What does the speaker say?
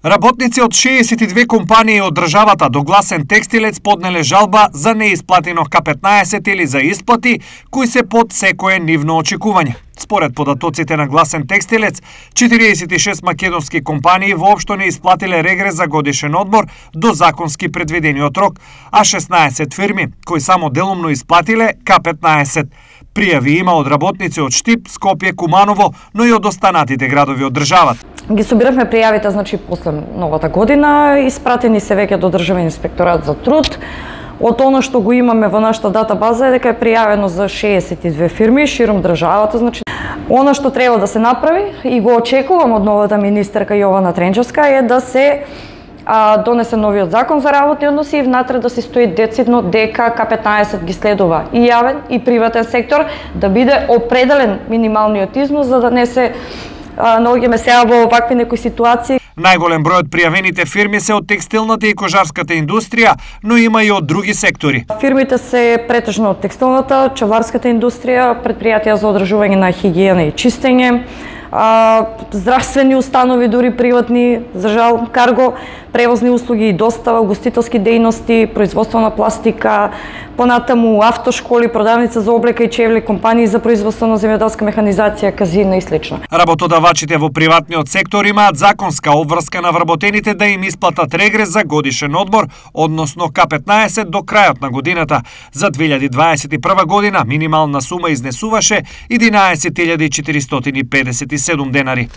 Работници од 62 компании од државата до Гласен текстилец поднеле жалба за неисплатено К15 или за исплати кои се под секое нивно очекување. Според податоците на Гласен текстилец, 46 македонски компании воопшто не исплатиле регрес за годишен одмор до законски предвидениот рок, а 16 фирми кои само делумно исплатиле К15. Пријави има од работници од Штип, Скопје, Куманово, но и од останатите градови од државата. Ги собиравме пријавите, значи, после новата година, испратени се веќе до Државен инспекторат за труд. Од она што го имаме во нашата дата база е дека е пријавено за 62 фирми широм државата, значи она што треба да се направи и го очекувам од новата министерка Јована Тренчевска е да се донесе новиот закон за работни односи и внатре да се стои децидно дека К15 ги следува и јавен и приватен сектор, да биде определен минималниот износ за да не се наоѓаме сега во овакви некои ситуации. Најголем број од пријавените фирми се од текстилната и кожарската индустрија, но има и од други сектори. Фирмите се претежно од текстилната, чеварската индустрија, предпријатија за одржување на хигиена и чистење, здравствени установи, дури приватни, за жал, карго, превозни услуги и достава, гостителски дејности, производство на пластика, понатаму автошколи, продавница за облека и чевли, компании за производство на земјоделска механизација, казина и слично. Работодавачите во приватниот сектор имаат законска обврска на вработените да им исплатат регрес за годишен одмор, односно К15 до крајот на годината. За 2021 година минимална сума изнесуваше 11.457 денари.